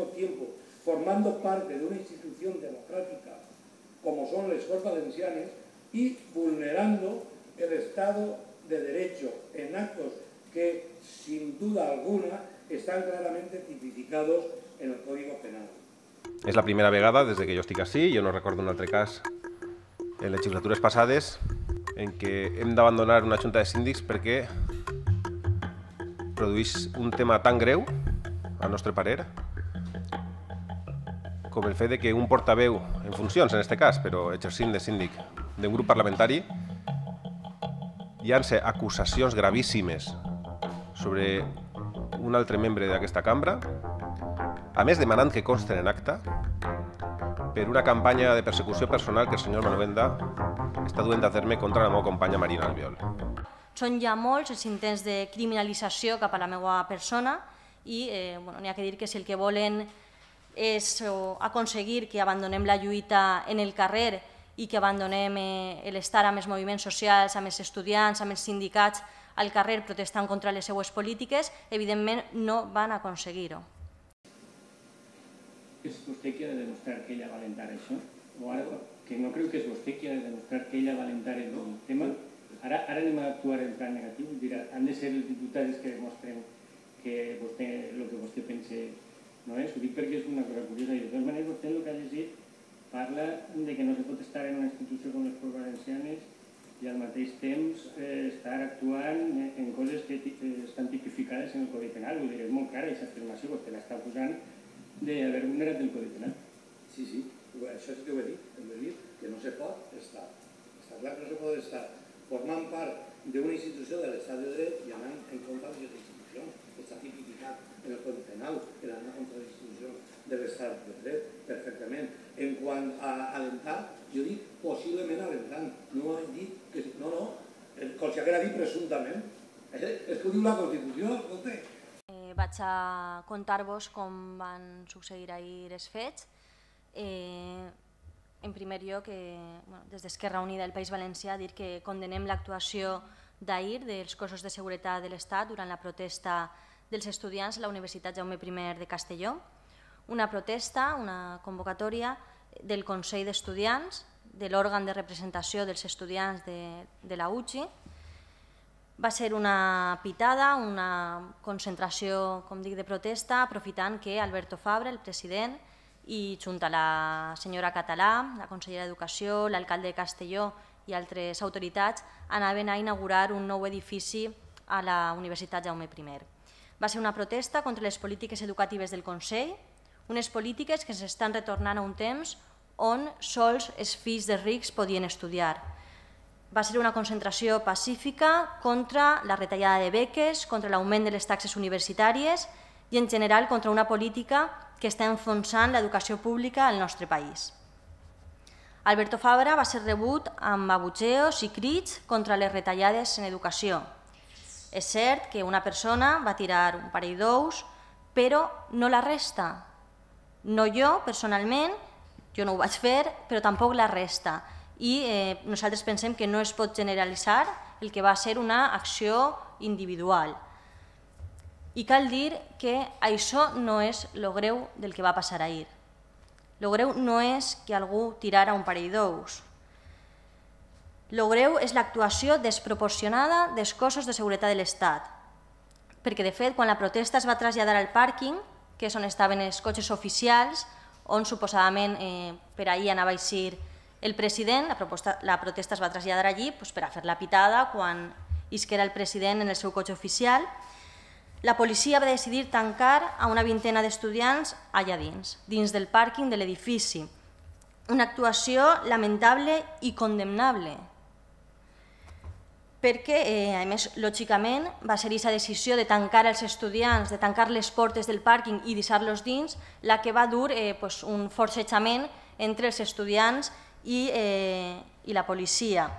mismo tiempo formando parte de una institución democrática como son les Corts Valencianes y vulnerando el Estado de Derecho en actos que, sin duda alguna, están claramente tipificados en el Código Penal. És la primera vegada des que jo estic ací, jo no recordo un altre cas en legislatures passades en què hem d'abandonar una junta de síndics perquè produeix un tema tan greu, al nostre parer, com el fet de que un portaveu, en funcions en aquest cas, però exercint de síndic d'un grup parlamentari, llança acusacions gravíssimes sobre un altre membre d'aquesta cambra, a més demanant que consten en acta, per una campanya de persecució personal que el senyor Manovenda està duent a terme contra la meva companya Marina Albiol. Són ja molts els intents de criminalització cap a la meva persona i n'hi ha que dir que si el que volen és aconseguir que abandonem la lluita en el carrer i que abandonem l'estar amb els moviments socials, amb els estudiants, amb els sindicats al carrer protestant contra les seues polítiques, evidentment no van aconseguir-ho. És vostè qui ha de demostrar que ella va alentar això? O ara, que no creu que és vostè qui ha de demostrar que ella va alentar el tema? Ara anem a actuar en plan negatiu? Han de ser els diputats que demostren que el que vostè pensa no és? Ho dic perquè és una cosa curiosa. De totes maneres, vostè el que ha llegit parla de que no se pot estar en una institució com les Corts Valencianes i al mateix temps estar actuant en coses que estan tipificades en el Codi Penal. Vull dir, és molt clara aquesta afirmació, vostè l'està acusant d'haver vulnerat el Codi Penal. Sí, sí, això és que ho he dit. Hem de dir que no se pot estar. Està clar que no se pot estar formant part d'una institució de l'estat de dret i anant en contra de les institucions. Està tipificat en el Codi Penal, que anar contra les institucions de l'estat de dret, perfectament. En quant a alentar, jo dic possiblement alentant. No he dit que... No, com si haguera dit presumptament. És que ho diu la Constitució, escolta. Vaig a contar-vos com van succeir ahir els fets. En primer lloc, des d'Esquerra Unida del País Valencià, dir que condenem l'actuació d'ahir dels cossos de seguretat de l'Estat durant la protesta dels estudiants a la Universitat Jaume I de Castelló. Una protesta, una convocatòria del Consell d'Estudiants, de l'òrgan de representació dels estudiants de la UCI. Va ser una pitada, una concentració, com dic, de protesta, aprofitant que Alberto Fabra, el president, i junt a la senyora Català, la consellera d'Educació, l'alcalde de Castelló i altres autoritats, anaven a inaugurar un nou edifici a la Universitat Jaume I. Va ser una protesta contra les polítiques educatives del Consell, unes polítiques que s'estan retornant a un temps on sols els fills de rics podien estudiar. Va ser una concentració pacífica contra la retallada de beques, contra l'augment de les taxes universitàries i, en general, contra una política que està enfonsant l'educació pública al nostre país. Alberto Fabra va ser rebut amb abucheos i crits contra les retallades en educació. És cert que una persona va tirar un parell d'ous, però no la resta. No jo, personalment, jo no ho vaig fer, però tampoc la resta. I nosaltres pensem que no es pot generalitzar el que va ser una acció individual. I cal dir que això no és lo greu del que va passar ahir. Lo greu no és que algú tirara un parell d'ous. Lo greu és l'actuació desproporcionada dels cossos de seguretat de l'Estat. Perquè, de fet, quan la protesta es va traslladar al pàrquing, que és on estaven els cotxes oficials, on suposadament per ahir anava a eixir el president, la protesta es va traslladar allí per a fer la pitada quan isquera el president en el seu cotxe oficial. La policia va decidir tancar a una vintena d'estudiants allà dins del pàrquing de l'edifici. Una actuació lamentable i condemnable, perquè, a més, lògicament, va ser aquesta decisió de tancar els estudiants, de tancar les portes del pàrquing i deixar-los dins, la que va dur un forcejament entre els estudiants i la policia.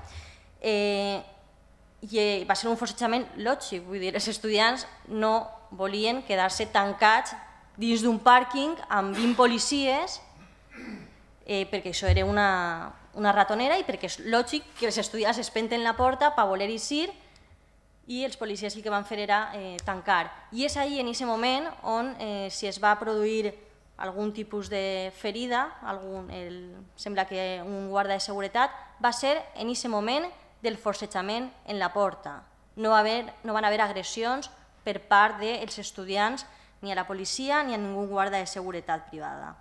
I va ser un forcejament lògic, vull dir, els estudiants no volien quedar-se tancats dins d'un pàrquing amb 20 policies, perquè això era una ratonera i perquè és lògic que els estudiants es penten la porta per voler eixir i els policies el que van fer era tancar. I és ahir, en aquest moment, on si es va produir algun tipus de ferida, sembla que un guarda de seguretat, va ser en aquest moment del forcejament en la porta. No van haver agressions per part dels estudiants ni a la policia ni a ningú guarda de seguretat privada.